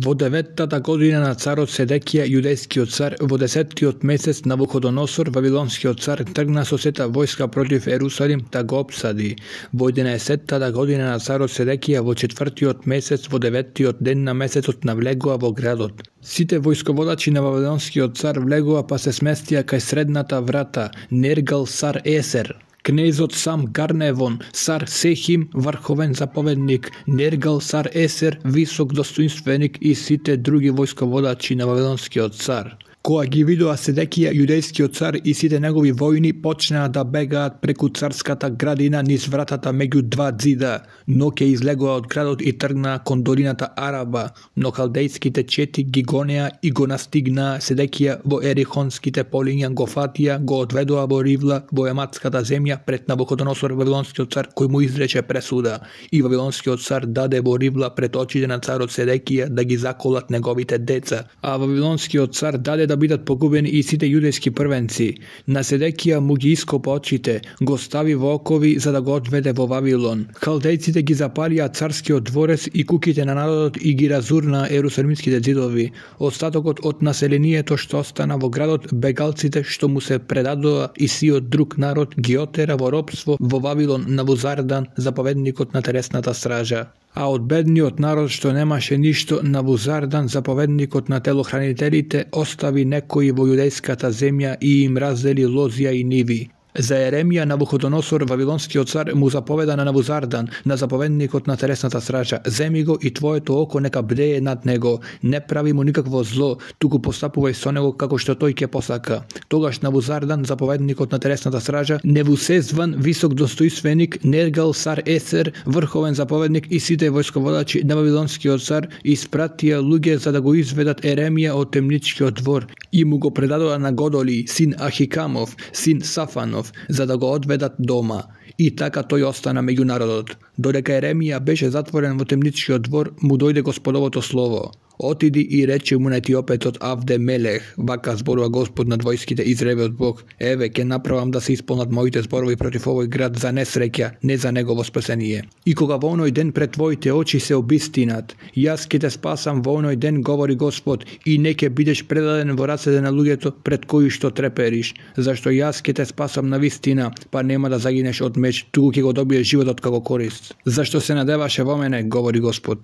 Во 9-та година на царот Седекија, јудејскиот цар, во 10-тиот месец Навуходоносор, вавилонскиот цар, тргна со сета војска против Ерусалим да го опсади. Во 11-та година на царот Седекија, во 4-тиот месец, во 9-тиот ден на месецот навлегува во градот. Сите војсководачи на вавилонскиот цар влегува па се сместија кај средната врата, Нергал Сар Есер. Кнезот Сам Гарневон, Сар Сехим, врховен заповедник, Нергал Сар Есер, висок достоинственик и сите други војсководачи на вавилонскиот цар. Кога ги видоа Седекија, јудејскиот цар и сите негови војни почнаа да бегаат преку царската градина низ вратата меѓу два ѕида, но ќе излегоа од градот и тргнаа кон долината Араба, но халдејските чети ги гонеа и го настигнаа Седекија во ерихонските полиња, го фатија, го одведоа во Ривла, во ематската земја пред Навуходоносор, вавилонскиот цар, кој му изрече пресуда, и вавилонскиот цар даде во Ривла пред очите на царот Седекија да ги заколат неговите деца, а вавилонскиот цар даде да бидат погубени и сите јудејски првенци. На Седекија му ги ископа очите, го стави во окови за да го одведе во Вавилон. Халдејците ги запалија царскиот дворец и куќите на народот и ги разурнаа ерусалимските ѕидови. Остатокот од населението што остана во градот, бегалците што му се предадоа и сиот друг народ ги отера во робство во Вавилон Навузардан, заповедникот на телесната стража. А од бедниот народ што немаше ништо, Навузардан, заповедникот на телохранителите, остави некои во јудејската земја и им раздели лозија и ниви. За Еремија Навуходоносор, вавилонскиот цар, му заповеда на Навузардан, на заповедникот на телесната стража: земи го и твоето око нека бдее над него, не прави му никакво зло, туку постапувај со него како што тој ќе посака. Тогаш Навузардан, заповедникот на телесната стража, Невусезван, висок достоинственик, Нергал Сар Есер, врховен заповедник и сите војсководачи на вавилонскиот цар испратија луѓе за да го изведат Еремија од темничкиот двор и му го предадоа на Годоли, син Ахикамов, син Сафанов, за да го одведат дома. И така тој остана меѓу народот. Додека Еремија беше затворен во темничкиот двор, му дојде Господовото слово: отиди и рече му на етиопецот Авде Мелех, вака зборува Господ над војските, Израелевиот Бог: еве, ќе направам да се исполнат моите зборови против овој град за несреќа, не за негово спасение. И кога во оној ден пред твоите очи се обистинат, јас ќе те спасам во оној ден, говори Господ, и не ќе бидеш предаден во рацете на луѓето пред кои што трепериш, зашто јас ќе те спасам на вистина, па нема да загинеш од меч, туку ќе го добиеш животот како корист. Зашто се надеваше во мене, говори Господ.